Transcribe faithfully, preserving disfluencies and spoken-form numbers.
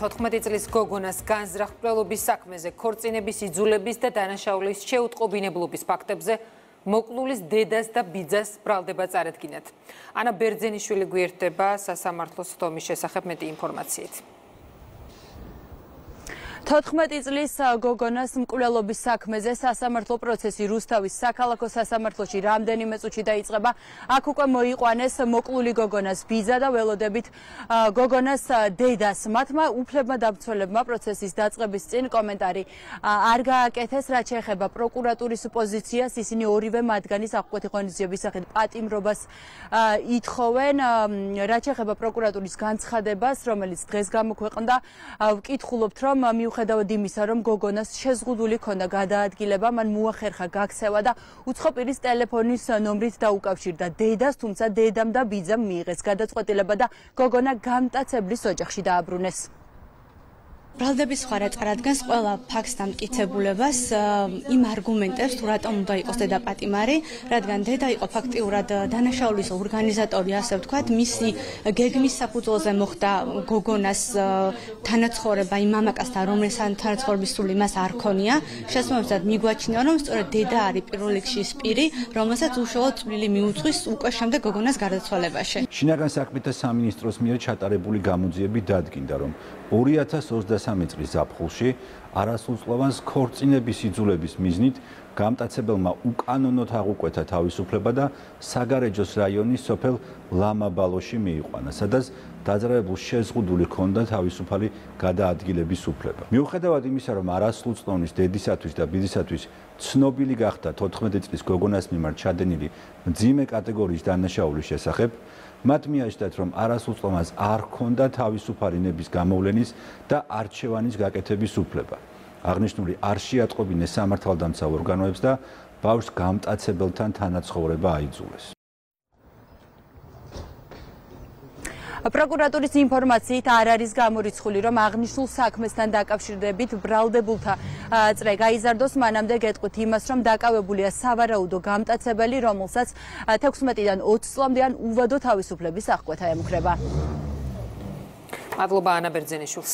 თოთხმეტი წლის გოგონას განზრახმლობის საქმეზე, ქორწინების იძულების და დანაშაულის შეუტყობინებლობის ფაქტებზე მოკლულის დედას და ბიძას ბრალდება წარადგინათ. ანა ბერძენიშვილი გვერდება სასამართლოს თომის შესახებ მეტი ინფორმაციით. თოთხმეტი წლის გოგონას მკვლელობის საქმეზე სასამართლო პროცესი რუსთავის საქალაქო სასამართლოში რამდენიმე წუთში დაიწყება. აქ უკვე მოიყვანეს მოკლული გოგონას ბიძა და ველოდებით გოგონას დედას. მათმა უფლებმა დამცველებმა პროცესის დაწყების წინ კომენტარი არ გააკეთეს, რაც შეეხება პროკურატურის პოზიციას. ისინი ორივე მათგანის აღკვეთი ღონისძიების სახით პატიმრობას ითხოვენ. რაც შეეხება პროკურატურის განცხადებას, რომელიც დღეს გამოქვეყნდა, ვკითხულობთ, რომ მიუხედავად იმისა, რომ გოგონას შეზღუდული ქონდა გადაადგილება, მან მოახერხა გაქცევა და უცხო პირის ტელეფონის ნომრით დაუკავშირდა დედას, თუმცა დედამ და ბიძამ მიიღეს გადაწყვეტილება და გოგონა გამტაცებლის ოჯახში დააბრუნეს. ბრალდების ხარა წარადგენს ყველა ფაქტს და მტკიცებულებას იმ არგუმენტებს, თუ რატომ უნდა იყოს დედა პატიმარი, რადგან დედა იყო ფაქტიურად დანაშაულის ორგანიზატორი, ასე ვთქვათ, მისი გეგმის საფუძველზე მოხდა გოგონას თანაცხოვრება იმ მამაკაცთან, რომელსაც თანაცხოვრების სული მას არ ქონია. შესაბამისად მიგვაჩნია, რომ სწორედ დედა არის პირველ რიგში ის პირი, რომელსაც უშუალოდ წვლილი მიუძღვის უკვე შემდეგ გოგონას გარდაცვალებაში. შინაგან საქმეთა სამინისტროს მიერ ჩატარებული გამოძიები დადგინდა, რომ ორი ათას ოცდასამი წლის ზაფხულში არასრულწლოვანს ქორწინების იძულების მიზნით გამტაცებელმა უკანონოდ აღუკვეთა თავისუფლება და საგარეჯოს რაიონის სოფელ ლამაბალოში მიიყვანა, სადაც დაძრავებულ შეზღუდული ჰქონდა თავისუფალი გადაადგილების უფლება. მიუხედავად იმისა, რომ არასრულწლოვნის დედისათვის და ბიძისათვის ცნობილი გახდა თოთხმეტი წლის გოგონას მიმართ ჩადენილი მძიმე კატეგორიის დანაშაულის შესახებ, მათ მიაჩნდათ, რომ არასრულწლოვანს არ ჰქონდა თავისუფალი ნების გამოვლენის და არჩევანის გაკეთების უფლება. აღნიშნული არ შეატყობინეს სამართალდამცავ ორგანოებს და ბავშვს გამტაცებელთან თანაცხოვრება აიძულეს. პროკურატურის ინფორმაციით არ არის გამორიცხული, რომ აღნიშნულ საქმესთან დაკავშირებით ბრალდებულთა წრე გაიზარდოს. მანამდე გეტყვით იმას, რომ დაკავებულია სავარაუდო გამტაცებელი, რომელსაც თექვსმეტიდან ოცი წლამდე ან უვადო თავისუფლების აღკვეთა ემუქრება. მადლობა ანა ბერძენიშვილს.